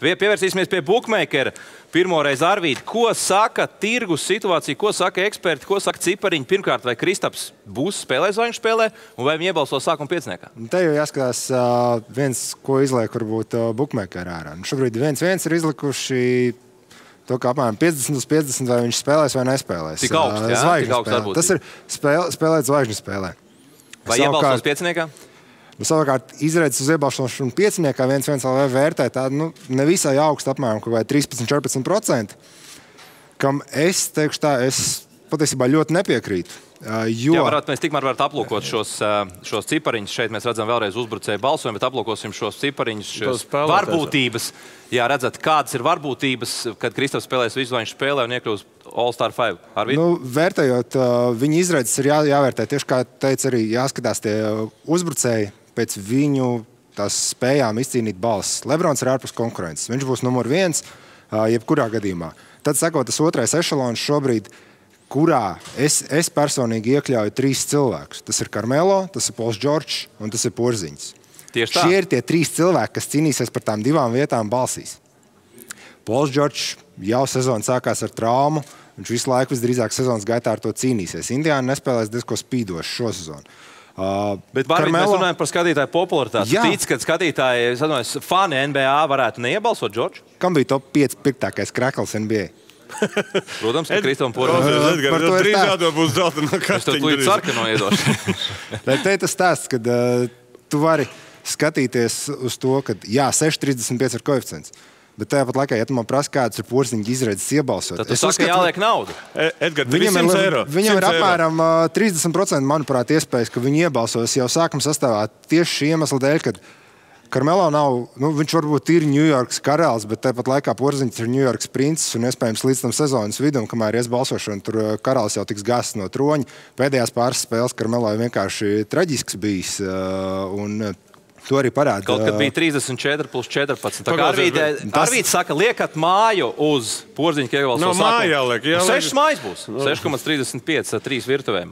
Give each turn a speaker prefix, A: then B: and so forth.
A: Pievērsīsimies pie bookmakera. Pirmoreiz Arvīti, ko saka tirgus situācija, ko saka eksperti, ko saka cipariņi? Pirmkārt, vai Kristaps būs spēlējis, vai viņš spēlē, un vai viņi iebalso sākuma pieciniekā?
B: Te jau jāskatās viens, ko izliek varbūt bookmakera ārā. Šobrīd 1-1 ir izlikuši to, ka apmēram 50/50, vai viņš spēlēs vai nespēlēs.
A: Tik augsts, jā? Tik augsts varbūt.
B: Tas ir spēlēt zvaigžņu spēlē.
A: Vai iebalsos pieciniekā?
B: Savukārt, izredzes uz iebalsošanu pieciniekā 1-1 LV vērtē tādu nevisai augstu apmēram, vai 13–14%, kam es teikšu tā, es patiesībā ļoti nepiekrītu.
A: Jā, mēs tikmēr varētu aplūkot šos cipariņus. Šeit mēs redzam vēlreiz uzbrucēju balsojumu, bet aplūkosim šos cipariņus, šos varbūtības. Jā, redzat, kādas ir varbūtības, kad Kristaps spēlēs visu, lai viņš spēlē un iekļūs All-Star 5.
B: Vērtējot, viņa izredzes ir jāvērtē. Tieši kā teica arī, jāskatās tie uzbrucēji pēc viņu tās spējām izcīnīt balsis. Lebrons ir ārpus konkurences. Viņš būs numur 1, jebkurā gadījumā. Tad sakot, tas otrais ešalons šobrīd, kurā es personīgi iekļauju 3 cilvēkus. Tas ir Carmelo, tas ir Pols Džordžs un tas ir Porziņš. Šie ir tie 3 cilvēki, kas cīnīsies par tām 2 vietām balsīs. Pols Džordžs jau sezona sākās ar traumu. Viņš visu laiku visdrīzāk sezonas gaitā ar to cīnīsies. Indiāna nespēlēs diezko spīdoši šo sezonu.
A: Bet mēs runājam par skatītāju popularitāti. Tic, ka skatītāji, fani NBA varētu neiebalsot Džordžu?
B: Kam bija top 5 pirktākais krekls NBA?
A: Protams, ka Kristapam Porziņam.
C: Par to ir stāsts. Būs zeltainā kastiņa.
A: Es tev tūlīt sarkano iedošu.
B: Bet te ir tas stāsts, kad tu vari skatīties uz to, ka jā, 6,35 ir koeficients. Bet tāpat laikā, ja tu man prasa, kādas ir Porziņa izredzes iebalsot.
A: Tad tu saka, jāliek naudu.
C: Edgar, 300 eiro.
B: Viņam ir apmēram 30%, manuprāt, iespējas, ka viņi iebalsos jau sākuma sastāvā tieši šī iemesla dēļ, kad Carmelo nav, viņš varbūt ir Ņujorkas karalis, bet tāpat laikā Porziņš ir Ņujorkas princis un iespējams līdz tam sezonas vidum, kamēr ies balsošana, tur karalis jau tiks gāsts no troņa. Pēdējās pāris spēles Carmelo vienkārši traģisks bijis un to arī parāda.
A: Kaut kad bija 34+14. Tā kā Arvīts saka, liekat māju uz Porziņu, ka iebalso sākumu.
C: 6
A: mājas būs. 6,35 ar 3 virtuvēm.